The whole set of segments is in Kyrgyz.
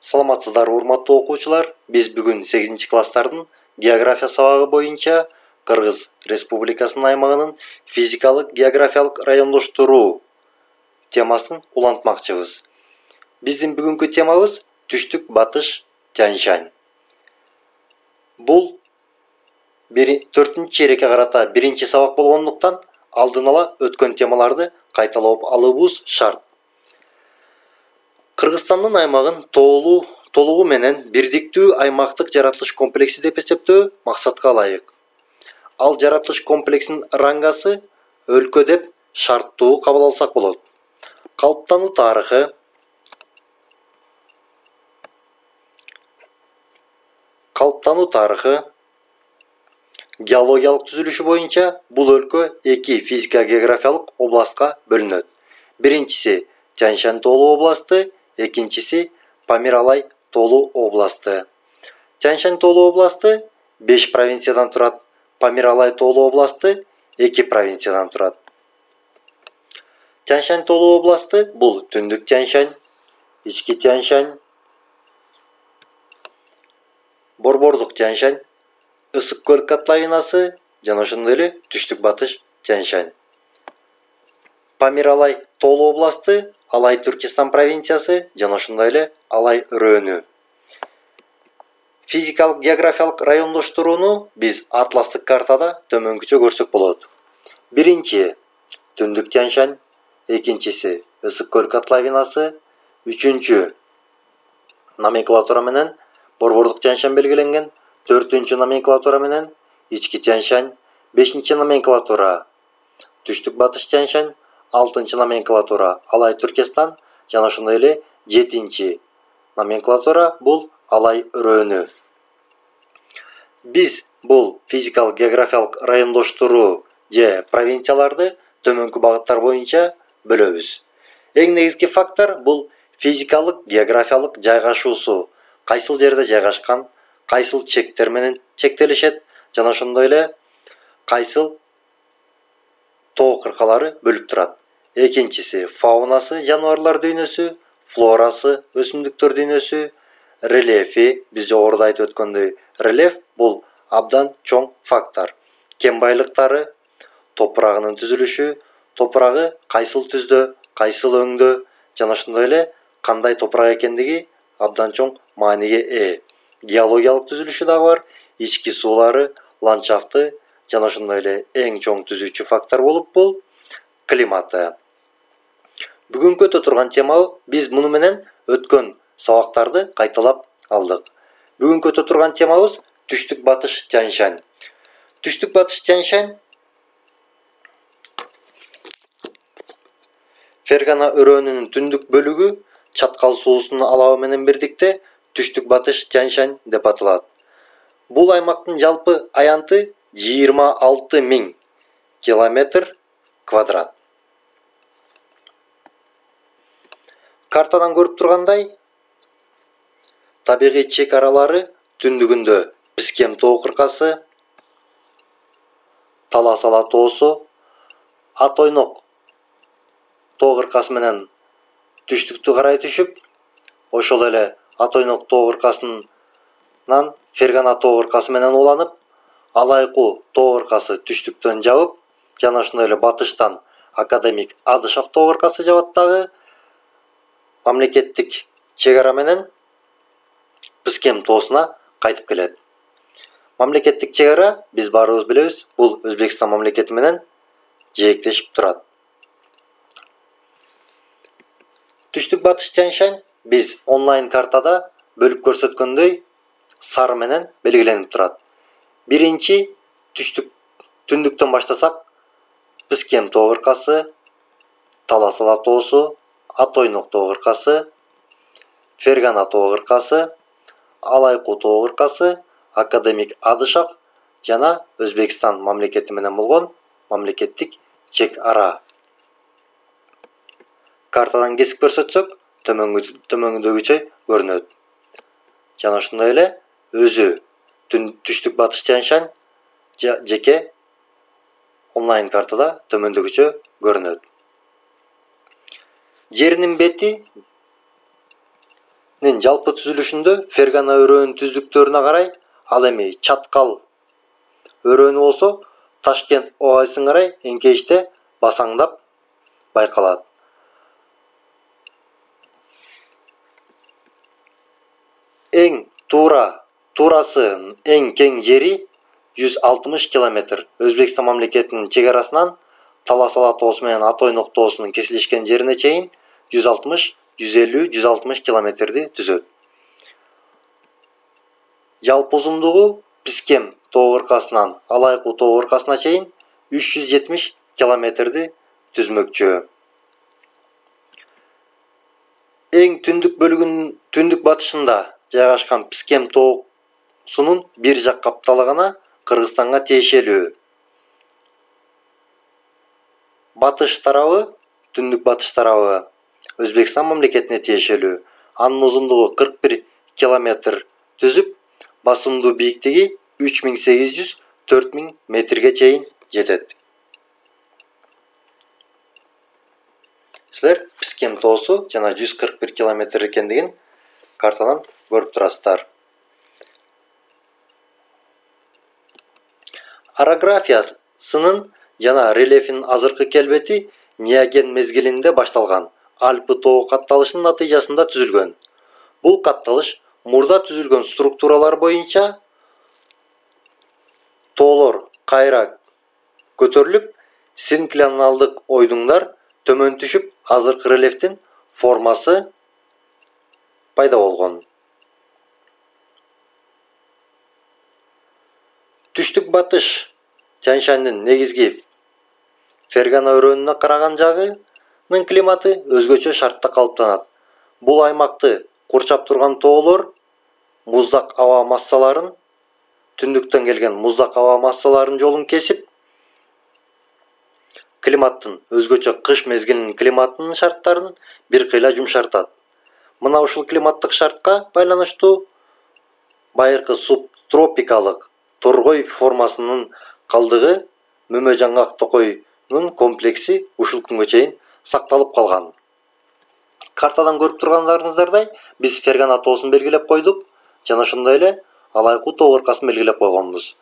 Саламатсыздарбы, урматтуу окуучулар. Биз бүгүн 8-класстардын география сабагы боюнча Кыргыз Республикасынын аймагынын физикалык географиялык райондоштуруу темасын улантмакчыбыз. Биздин бүгүнкү темабыз түштүк батыш Тянь-Шань. Бул 4-чейрекке карата биринчи сабак болгондуктан алдын ала өткөн темаларды кайталап алуубуз шарт. Кыргызстандын аймагын толугу менен бирдиктүү аймактык жаратылыш комплекси деп эсептөө максатка ылайык. Ал жаратылыш комплексинин рангасы өлкө деп шарттуу кабыл алсак болот. Калыптануу тарыхы, геологиялык түзүлүшү боюнча бул өлкө 2 физика-географиялык областка бөлүнөт. Биринчиси Тянь-Шань тоолуу областы, экинчиси Памир-Алай тоолуу областы. Тянь-Шань тоолуу областы 5 провинциядан турат, Памир-Алай тоолуу областы 2 провинциядан турат. Тянь-Шань тоолуу областы бул Түндүк Тянь-Шань, Ички Тянь-Шань, Борбордук Тянь-Шань, Ысык көл котловинасы жана ошондой эле Түштүк батыш Тянь-Шань. Памир-Алай тоолуу областы Алай Түркистан провинциясы жана ошондой эле Алай өрөөнү. Физикалык географиялык райондоштурууну биз атластык картада төмөнкүчө көрсөк болот. Биринчи Түндүк Тянь-Шань, экинчиси Ысык көл котловинасы, үчүнчү номенклатура менен Борбордук Тянь-Шань белгиленген, 4-чү номенклатура менен Ички Тянь-Шань, 5-чи номенклатура Түштүк батыш Тянь-Шань, 6-чы номенклатура Алай Түркистан жана ошондой эле 7-чи номенклатура бул Алай өрөөнү. Биз бул физикалык географиялык райондоштуруу же провинцияларды төмөнкү багыттар боюнча бөлөбүз. Эң негизги фактор бул физикалык географиялык жайгашуусу, кайсыл жерде жайгашкан, кайсыл чектер менен чектелишет жана ошондой эле кайсыл тоо кыркалары бөлүп турат. Экинчиси фаунасы, жаныбарлар дүйнөсү, флорасы, өсүмдүктөр дүйнөсү, рельефи, биз жогоруда айтып өткөндөй, рельеф бул абдан чоң фактор. Кен байлыктары, топурагынын түзүлүшү, топурагы кайсыл түздө, кайсыл өңдө жана ошондой эле кандай топурак экендиги абдан чоң мааниге ээ. Геологиялык түзүлүшү дагы бар, ички суулары, ландшафты жана ошондой эле эң чоң түзүүчү фактор болуп бул климаты. Бүгүнкү өтө турган тема биз муну менен өткөн сабактарды кайталап алдык. Бүгүнкү өтө турган темабыз Түштүк батыш Тянь-Шань. Түштүк батыш Тянь-Шань Фергана өрөөнүнүн түндүк бөлүгү чаткал суусунун алабы менен бирдикте Түштүк батыш Тянь-Шань деп аталат. Бул аймактын жалпы аянты 26.000 километр квадрат. Картадан көрүп тургандай, табигый чек аралары түндүгүндө Пискем тоо кыркасы, Талас-Ала тоосу, Ат-Ойнок тоо кыркасы менен түштүктү карай түшүп, ошол эле Ат-Ойнок тоо кыркасынан Фергана тоо кыркасы менен уланып, Алайку тоо кыркасы түштүктөн жабып, жана ошондой эле батыштан Академик Адышев тоо кыркасы жабаттагы мамлекеттик чек ара менен Пискем тоосуна кайтып келет. Мамлекеттик чек ара, биз баарыбыз билебиз, бул Өзбекстан мамлекети менен жээктешип турат. Түштүк батыш Тянь-Шань биз онлайн картада бөлүп көрсөткөндөй сары менен белгиленип турат. Биринчи түндүктөн баштасак, Пискем тоо кыркасы, Талас-Ала тоосу, Ат-Ойнок тоо кыркасы, Фергана тоо кыркасы, Алайку тоо кыркасы, Академик Адышев жана Өзбекстан мамлекети менен болгон мамлекеттик чек ара. Картадан кесип көрсөтсөк, төмөндөгүчө көрүнөт. Жана ошондой эле өзү Түштүк батыш Тянь-Шань жеке онлайн картада төмөндөгүчө көрүнөт. Жеринин бети жалпы түзүлүшүндө Фергана өрөөнүн түздүктөрүнө карай, ал эми Чаткал өрөөнү болсо Ташкент оазисине карай эңкейиште басаңдап байкалат. Эң туурасы эң кең жери 160 километр. Өзбекстан мамлекетинин чек арасынан Талас Ала тоосу менен Атойнок тоосунун кесилишкен жерине чейин 150-160 километрди түзөт. Жалпы узундугу Пискем тоо кыркасынан Алайкуу тоо кыркасына чейин 370 километрди түзмөкчү. Эң түндүк батышында жайгашкан Пискем тоосунун бир жак капталыгына Кыргызстанга тиешелүү. Түндүк батыш тарабы Өзбекстан мамлекетине тиешелүү. Анын узундугу 41 километр түзүп, басымдуу бийиктиги 3800-4000 метрге чейин жетет. Силер Пискем тоосу жана 141 километр экендигин картадан көрүп турасыздар. Орографиясынын жана рельефинин азыркы келбети Неоген мезгилинде башталган Альпы тоо катталышынын натыйжасында түзүлгөн. Бул катталыш мурда түзүлгөн структуралар боюнча тоолор кайра көтөрүлүп, синклоналдык ойдуңдар төмөн түшүп, азыркы рельефтин формасы пайда болгон. Түштүк батыш Тянь-Шаньдын негизги Фергана өрөөнүнө караган жагынын климаты өзгөчө шартта калыптанат. Бул аймакты курчап турган тоолор муздак аба массаларын, түндүктөн келген муздак аба массаларынын жолун кесип, климаттын өзгөчө кыш мезгилинин климатынын шарттарын бир кыйла жумшартат. Мына ушул климаттык шартка байланыштуу байыркы субтропикалык торгой формасынын калдыгы Мөмө жаңгак токойнун комплекси ушул күнгө чейин сакталып калган. Картадан көрүп тургандарыңыздардай, биз Фергана тоосун белгилеп койдук, жана ошондой эле Алайкуу тоо кыркасын белгилеп койгонбуз.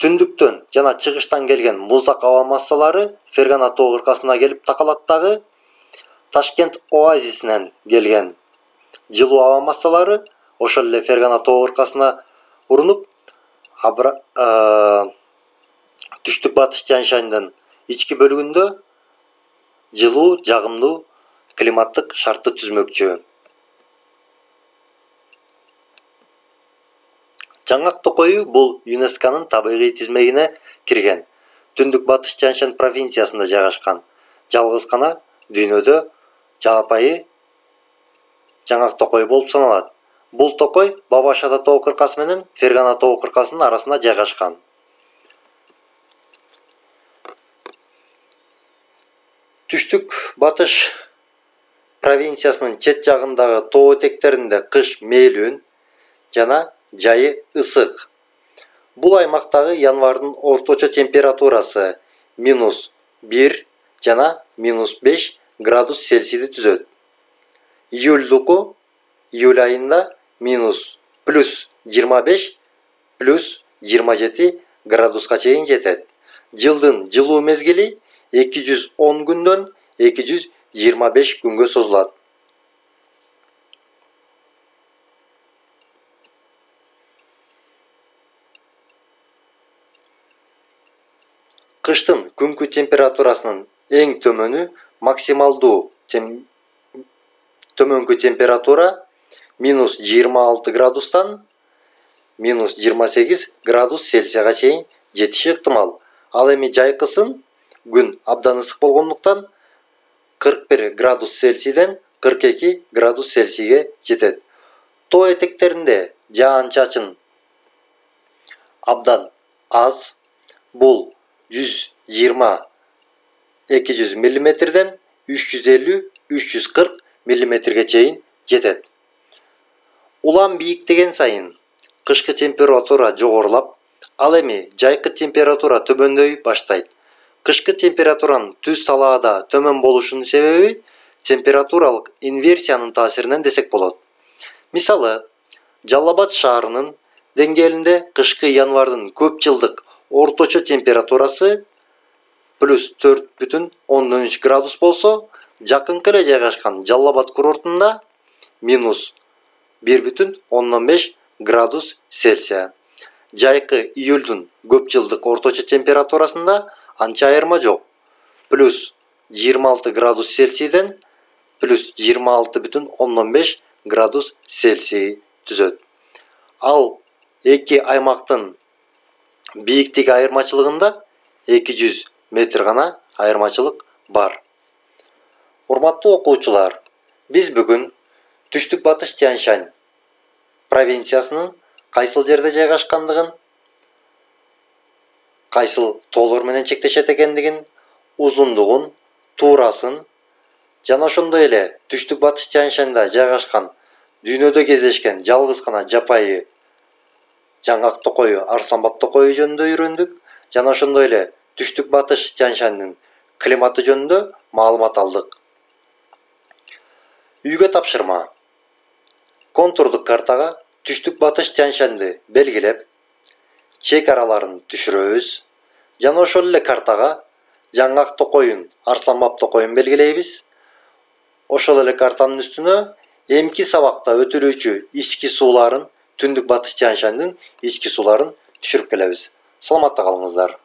Түндүктөн жана чыгыштан келген муздак аба массалары Фергана тоо кыркасына келип такалат дагы. Ташкент оазисинен келген жылуу аба массалары ошол эле Фергана тоо кыркасына урунуп, түштүк батыш Тянь-Шаньдын ички бөлүгүндө жылуу, жагымдуу климаттык шартты түзмөкчү. Жаңгак токою бул ЮНЕСКОнун табигый тизмегине кирген. Түндүк батыш Тянь-Шань провинциясында жайгашкан. Жалгыз гана дүйнөдө жапайы жаңгак токой болуп саналат. Бул токой Баба-Шада тоо кыркасы менен Фергана тоо кыркасынын арасында жайгашкан. Түштүк батыш провинциясынын чет жагындагы тоо этектеринде кыш мээлүүн жана жайы ысык. Бул аймактагы январдын орточо температурасы -1 жана -5 градус Цельсийди түзөт. Июль айында -+25 +27 градуска чейин жетет. Жылдын жылуу мезгили 210 күндөн 225 күнгө созулат. Кыштын күнгү температурасынын эң төмөнү максималдуу төмөнкү температура -26 градустан -28 градус Цельсияга чейин жетиши ыктымал. Ал эми жайкысын күн абдан ысык болгондуктан 41 градус Цельсийден 42 градус Цельсийге жетет. Тоо этектеринде жаан-чачын абдан аз. Бул 120-200 мм 350-340 мм чейин жетет. Улам бийиктеген сайын кышкы температура жогорулап, ал эми жайкы температура төмөндөй баштайт. Кышкы температуранын түз талаада төмөн болушунун себеби температуралык инверсиянын таасиринен десек болот. Мисалы, Жалал Абад шаарынын деңгээлинде кышкы январдын көп жылдык орточо температурасы плюс 4,3 градус болсо, жакынкы эле жайгашкан Жалал Абад курортунда минус 1,5 градус Цельсия. Жайкы июлдун көп жылдык орточо температурасында анча айырма жок. Плюс 26 градус Цельсийден плюс 26,5 градус Цельсий түзөт. Ал эки аймактын бийиктиги айырмачылыгында 200 метр гана айырмачылык бар. Урматтуу окуучулар, биз бүгүн түштүк батыш Тянь-Шань провинциясынын кайсыл жерде жайгашкандыгын, кайсыл тоолор менен чектешет экендигин, узундугун, туурасын жана ошондой эле түштүк батыш Тянь-Шаньда жайгашкан дүйнөдө кездешкен жалгыз гана жапайы жаңгак токою Арсланбап токою жөнүндө үйрөндүк жана ошондой эле түштүк батыш Тянь-Шаньдын климаты жөнүндө маалымат алдык. Үйгө тапшырма. Контурдук картага түштүк батыш Тянь-Шаньды белгилеп, чек араларын түшүрөбүз жана ошол эле картага жаңгак токоюн, Арсланбап токоюн белгилейбиз. Ошол эле картанын үстүнө эмки сабакта өтүлүүчү ички сууларын, түндүк батыш Тянь-Шаньдын ички сууларын түшүрүп келебиз. Саламатта калыңыздар.